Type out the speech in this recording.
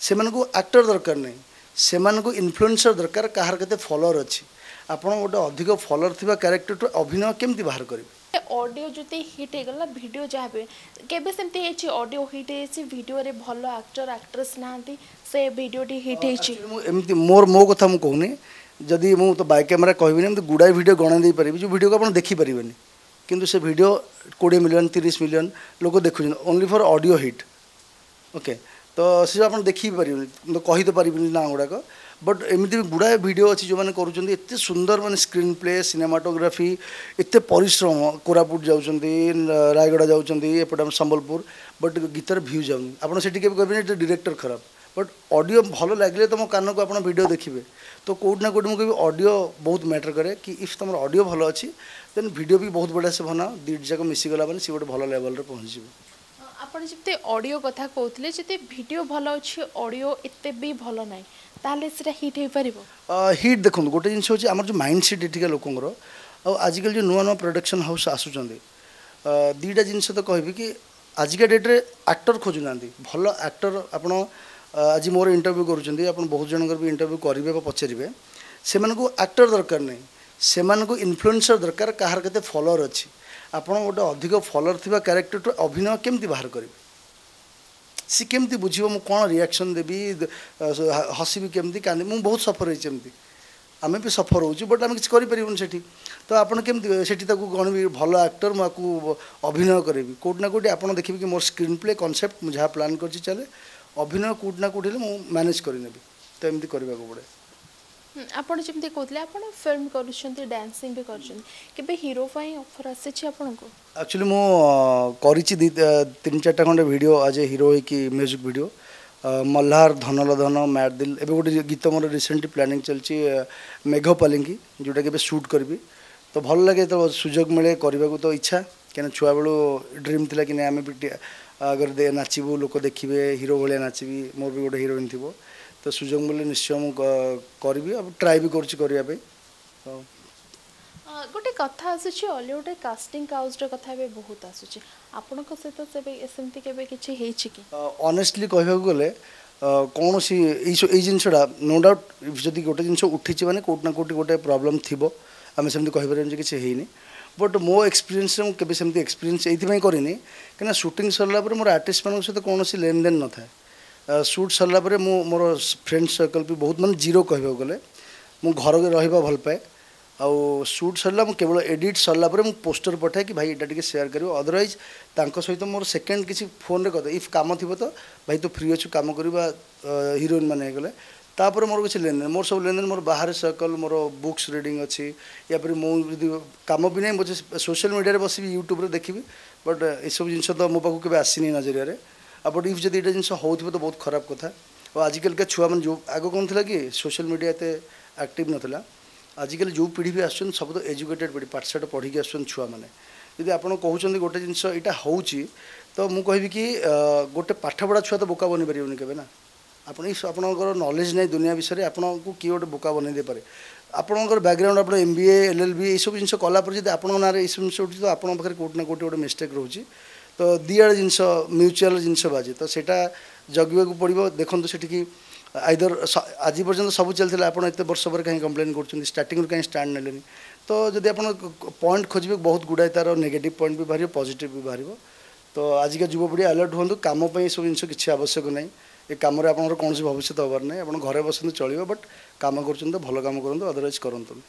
ସେମାନଙ୍କୁ ଆକ୍ଟର ଦରକାର ନାହିଁ, ସେମାନଙ୍କୁ ଇନଫ୍ଲୁଏନ୍ସର ଦରକାର, କାହାର କେତେ ଫଲୋଅର ଅଛି। ଆପଣ ଗୋଟେ ଅଧିକ ଫଲୋଅର ଥିବା କ୍ୟାରେକ୍ଟରଠୁ ଅଭିନୟ କେମିତି ବାହାର କରିବେ? ଅଡ଼ିଓ ଯଦି ହିଟ୍ ହେଇଗଲା, ଭିଡ଼ିଓ ଯାହା ବି, କେବେ ସେମିତି ହେଇଛି ଅଡ଼ିଓ ହିଟ୍ ହେଇଛି, ଭିଡ଼ିଓରେ ଭଲ ଆକ୍ଟର ଆକ୍ଟ୍ରେସ୍ ନାହାନ୍ତି, ସେ ଭିଡ଼ିଓଟି ହିଟ୍ ହେଇଛି? ମୁଁ ଏମିତି ମୋର ମୋ କଥା ମୁଁ କହୁନି, ଯଦି ମୁଁ ତ ବାଇ କ୍ୟାମେରା କହିବିନି, ଏମିତି ଗୁଡ଼ାଏ ଭିଡ଼ିଓ ଗଣାଇ ଦେଇପାରିବି ଯେଉଁ ଭିଡ଼ିଓକୁ ଆପଣ ଦେଖିପାରିବେନି, କିନ୍ତୁ ସେ ଭିଡ଼ିଓ 20 ମିଲିୟନ୍ 30 ମିଲିୟନ୍ ଲୋକ ଦେଖୁଛନ୍ତି only for audio hit. Okay, ତ ସେ ଆପଣ ଦେଖି ପାରିବେନି, ମୁଁ କହି ତ ପାରିବିନି ନାଁ ଗୁଡ଼ାକ, ବଟ୍ ଏମିତି ବି ଗୁଡ଼ାଏ ଭିଡ଼ିଓ ଅଛି ଯେଉଁମାନେ କରୁଛନ୍ତି ଏତେ ସୁନ୍ଦର, ମାନେ ସ୍କ୍ରିନ୍ ପ୍ଲେ, ସିନେମାଟୋଗ୍ରାଫି, ଏତେ ପରିଶ୍ରମ, କୋରାପୁଟ ଯାଉଛନ୍ତି, ରାୟଗଡ଼ା ଯାଉଛନ୍ତି, ଏପଟେ ଆମ ସମ୍ବଲପୁର, ବଟ୍ ଗୀତର ଭ୍ୟୁ ଯାଉନି। ଆପଣ ସେଠି କେବେ କହିବେନି ଏଠି ଡିରେକ୍ଟର ଖରାପ, ବଟ୍ ଅଡ଼ିଓ ଭଲ ଲାଗିଲେ ତୁମ କାନକୁ ଆପଣ ଭିଡ଼ିଓ ଦେଖିବେ। ତ କେଉଁଠି ନା କେଉଁଠି ମୁଁ କହିବି ଅଡ଼ିଓ ବହୁତ ମ୍ୟାଟର୍ କରେ କି if ତୁମର ଅଡ଼ିଓ ଭଲ ଅଛି ଦେନ୍ ଭିଡ଼ିଓ ବି ବହୁତ ବଢ଼ିଆ ସେ ବନାଅ, ଦୁଇଟି ଯାକ ମିଶିଗଲା ମାନେ ସିଏ ଗୋଟେ ଭଲ ଲେଭେଲରେ ପହଞ୍ଚିଯିବ। ଆପଣ ଯେମିତି ଅଡ଼ିଓ କଥା କହୁଥିଲେ, ଯଦି ଭିଡ଼ିଓ ଭଲ ଅଛି ଅଡ଼ିଓ ଏତେ ବି ଭଲ ନାହିଁ, ତାହେଲେ ସେଇଟା ହିଟ୍ ହେଇପାରିବ? ହିଟ୍ ଦେଖନ୍ତୁ, ଗୋଟେ ଜିନିଷ ହେଉଛି ଆମର ଯେଉଁ ମାଇଣ୍ଡ ସେଟ୍ ଏଠିକା ଲୋକଙ୍କର, ଆଉ ଆଜିକାଲି ଯେଉଁ ନୂଆ ନୂଆ ପ୍ରଡକ୍ସନ୍ ହାଉସ୍ ଆସୁଛନ୍ତି, ଦୁଇଟା ଜିନିଷ ତ କହିବି କି ଆଜିକା ଡେଟ୍ରେ ଆକ୍ଟର ଖୋଜୁନାହାନ୍ତି, ଭଲ ଆକ୍ଟର। ଆପଣ ଆଜି ମୋର ଇଣ୍ଟରଭ୍ୟୁ କରୁଛନ୍ତି, ଆପଣ ବହୁତ ଜଣଙ୍କର ବି ଇଣ୍ଟରଭ୍ୟୁ କରିବେ ବା ପଚାରିବେ, ସେମାନଙ୍କୁ ଆକ୍ଟର ଦରକାର ନାହିଁ, ସେମାନଙ୍କୁ ଇନଫ୍ଲୁଏନ୍ସର ଦରକାର, କାହାର କେତେ ଫଲୋଅର ଅଛି। ଆପଣ ଗୋଟେ ଅଧିକ ଫଲୋଅର ଥିବା କ୍ୟାରେକ୍ଟରଠୁ ଅଭିନୟ କେମିତି ବାହାର କରିବେ? ସେ କେମିତି ବୁଝିବ ମୁଁ କ'ଣ ରିଆକ୍ସନ୍ ଦେବି, ହସିବି କେମିତି, କାନ୍ଦିବି? ମୁଁ ବହୁତ ସଫର ହେଇଛି ଏମିତି, ଆମେ ବି ସଫର ହେଉଛୁ, ବଟ୍ ଆମେ କିଛି କରିପାରିବୁନି ସେଠି। ତ ଆପଣ କେମିତି ସେଠି ତାକୁ ଗଣିବି ଭଲ ଆକ୍ଟର, ମୁଁ ଆକୁ ଅଭିନୟ କରିବି? କେଉଁଠି ନା କେଉଁଠି ଆପଣ ଦେଖିବେ କି ମୋର ସ୍କ୍ରିନ୍ ପ୍ଲେ କନସେପ୍ଟ ମୁଁ ଯାହା ପ୍ଲାନ୍ କରିଛି ଚାଲେ, ଅଭିନୟ କେଉଁଠି ନା କେଉଁଠି ହେଲେ ମୁଁ ମ୍ୟାନେଜ୍ କରିନେବି। ତ ଏମିତି କରିବାକୁ ପଡ଼େ। ଆପଣ ଯେମିତି କହୁଥିଲେ ଆପଣ ଫିଲ୍ମ କରୁଛନ୍ତି, ଡ୍ୟାନ୍ସିଂ ବି କରୁଛନ୍ତି, କେବେ ହିରୋ ପାଇଁ ଅଫର୍ ଆସିଛି ଆପଣଙ୍କୁ? ଆକ୍ଚୁଆଲି ମୁଁ କରିଛି 2 3 4ଟା ଖଣ୍ଡେ ଭିଡ଼ିଓ ଆଜ୍ ଏ ହିରୋ ହେଇକି, ମ୍ୟୁଜିକ୍ ଭିଡ଼ିଓ, ମଲ୍ହାର, ଧନଲ ଧନ, ମ୍ୟାଡ୍ ଦିଲ୍। ଏବେ ଗୋଟେ ଗୀତ ମୋର ରିସେଣ୍ଟଲି ପ୍ଲାନିଂ ଚାଲିଛି, ମେଘ ପାଲିଙ୍କି, ଯେଉଁଟାକି ଏବେ ସୁଟ୍ କରିବି। ତ ଭଲ ଲାଗେ ଯେତେବେଳେ ସୁଯୋଗ ମିଳେ କରିବାକୁ ତ ଇଚ୍ଛା, କାହିଁକିନା ଛୁଆବେଳୁ ଡ୍ରିମ୍ ଥିଲା କି ନାଇଁ ଆମେ ବି ଆଗରେ ନାଚିବୁ, ଲୋକ ଦେଖିବେ, ହିରୋ ଭଳିଆ ନାଚିବି, ମୋର ବି ଗୋଟେ ହିରୋଇନ୍ ଥିବ। ତ ସୁଯୋଗ ମିଳିଲେ ନିଶ୍ଚୟ ମୁଁ କରିବି, ଆଉ ଟ୍ରାଏ ବି କରୁଛି କରିବା ପାଇଁ। ତ ଗୋଟେ କଥା ଆସୁଛି, ଅଲିଉଡ଼ରେ କାଷ୍ଟିଂ କାଉଚ୍ର କଥା ଏବେ ବହୁତ ଆସୁଛି, ଆପଣଙ୍କ ସହିତ ସେବେ ସେମିତି କେବେ କିଛି ହେଇଛି କି? ଅନେଷ୍ଟଲି କହିବାକୁ ଗଲେ କୌଣସି ଏଇ ଜିନିଷଟା ନୋ ଡାଉଟ୍ ଯଦି ଗୋଟେ ଜିନିଷ ଉଠିଛି ମାନେ କେଉଁଠି ନା କେଉଁଠି ଗୋଟେ ପ୍ରୋବ୍ଲେମ୍ ଥିବ, ଆମେ ସେମିତି କହିପାରିବାନି ଯେ କିଛି ହେଇନି। ବଟ୍ ମୋ ଏକ୍ସପିରିଏନ୍ସରେ ମୁଁ କେବେ ସେମିତି ଏକ୍ସପିରିଏନ୍ସ ଏଇଥିପାଇଁ କରିନି, କାହିଁକିନା ସୁଟିଂ ସରିଲା ପରେ ମୋର ଆର୍ଟିଷ୍ଟମାନଙ୍କ ସହିତ କୌଣସି ଲେନଦେନ ନଥାଏ। ସୁଟ୍ ସରିଲା ପରେ ମୁଁ ମୋର ଫ୍ରେଣ୍ଡ ସର୍କଲ୍ ବି ବହୁତ ମାନେ ଜିରୋ କହିବାକୁ ଗଲେ, ମୁଁ ଘରେ ରହିବା ଭଲ ପାଏ। ଆଉ ସୁଟ୍ ସରିଲା ମୁଁ କେବଳ ଏଡ଼ିଟ୍ ସରିଲା ପରେ ମୁଁ ପୋଷ୍ଟର ପଠାଏ କି ଭାଇ ଏଇଟା ଟିକେ ସେୟାର କରିବ, ଅଦରୱାଇଜ୍ ତାଙ୍କ ସହିତ ମୋର ସେକେଣ୍ଡ କିଛି ଫୋନ୍ରେ କଥା, if କାମ ଥିବ ତ ଭାଇ ତୁ ଫ୍ରି ଅଛୁ କାମ କରିବା, ହିରୋଇନ୍ ମାନେ ହେଇଗଲେ ତାପରେ ମୋର କିଛି ଲେନଦେନ, ମୋର ସବୁ ଲେନଦେନ ମୋର ବାହାରେ ସର୍କଲ୍, ମୋର ବୁକ୍ସ ରିଡ଼ିଂ ଅଛି, ୟା ପରେ ମୁଁ ଯଦି କାମ ବି ନାହିଁ ମୁଁ ସୋସିଆଲ୍ ମିଡ଼ିଆରେ ବସିବି ୟୁଟ୍ୟୁବ୍ରେ ଦେଖିବି, ବଟ୍ ଏସବୁ ଜିନିଷ ତ ମୋ ପାଖକୁ କେବେ ଆସିନି ନଜରିଆରେ। ଆଉ ବଟ୍ if ଯଦି ଏଇଟା ଜିନିଷ ହେଉଥିବ ତ ବହୁତ ଖରାପ କଥା। ଆଉ ଆଜିକାଲିକା ଛୁଆମାନେ ଯେଉଁ ଆଗ କ'ଣ ଥିଲା କି ସୋସିଆଲ୍ ମିଡ଼ିଆ ଏତେ ଆକ୍ଟିଭ୍ ନଥିଲା, ଆଜିକାଲି ଯେଉଁ ପିଢ଼ି ବି ଆସୁଛନ୍ତି ସବୁ ତ ଏଜୁକେଟେଡ଼ ପିଢ଼ି, ପାଠଶାଠ ପଢ଼ିକି ଆସୁଛନ୍ତି ଛୁଆମାନେ। ଯଦି ଆପଣ କହୁଛନ୍ତି ଗୋଟେ ଜିନିଷ ଏଇଟା ହେଉଛି, ତ ମୁଁ କହିବି କି ଗୋଟେ ପାଠପଢ଼ା ଛୁଆ ତ ବୋକା ବନିପାରିବନି କେବେ ନା। ଆପଣ ଆପଣଙ୍କର ନଲେଜ୍ ନାହିଁ ଦୁନିଆ ବିଷୟରେ, ଆପଣଙ୍କୁ କିଏ ଗୋଟେ ବୋକା ବନେଇ ଦେଇପାରେ। ଆପଣଙ୍କର ବ୍ୟାକଗ୍ରାଉଣ୍ଡ ଆପଣ MBA LLB ଏଇସବୁ ଜିନିଷ କଲା ପରେ ଯଦି ଆପଣଙ୍କ ନାଁରେ ଏଇସବୁ ଜିନିଷ ଉଠୁଛି, ତ ଆପଣଙ୍କ ପାଖରେ କେଉଁଠି ନା କେଉଁଠି ଗୋଟେ ମିଷ୍ଟେକ୍ ରହୁଛି। ତ ଦୁଇଆଡ଼େ ଜିନିଷ ମ୍ୟୁଚୁଆଲ୍ ଜିନିଷ ବାଜେ, ତ ସେଇଟା ଜଗିବାକୁ ପଡ଼ିବ। ଦେଖନ୍ତୁ ସେଠିକି ଆଇଦର ଆଜି ପର୍ଯ୍ୟନ୍ତ ସବୁ ଚାଲିଥିଲା, ଆପଣ ଏତେ ବର୍ଷ ପରେ କାହିଁ କମ୍ପ୍ଲେନ୍ କରୁଛନ୍ତି, ଷ୍ଟାର୍ଟିଂରୁ କାହିଁ ଷ୍ଟାଣ୍ଡ ନେଲେନି? ତ ଯଦି ଆପଣ ପଏଣ୍ଟ ଖୋଜିବେ ବହୁତ ଗୁଡ଼ାଏ ତା'ର ନେଗେଟିଭ୍ ପଏଣ୍ଟ ବି ବାହାରିବ, ପଜିଟିଭ୍ ବି ବାହାରିବ। ତ ଆଜିକା ଯୁବପିଢ଼ି ଆଲର୍ଟ ହୁଅନ୍ତୁ, କାମ ପାଇଁ ଏସବୁ ଜିନିଷ କିଛି ଆବଶ୍ୟକ ନାହିଁ, ଏ କାମରେ ଆପଣଙ୍କର କୌଣସି ଭବିଷ୍ୟତ ହେବାର ନାହିଁ। ଆପଣ ଘରେ ବସନ୍ତୁ ଚଳିବ, ବଟ୍ କାମ କରୁଛନ୍ତି ତ ଭଲ କାମ କରନ୍ତୁ, ଅଦରୱାଇଜ୍ କରନ୍ତୁନି।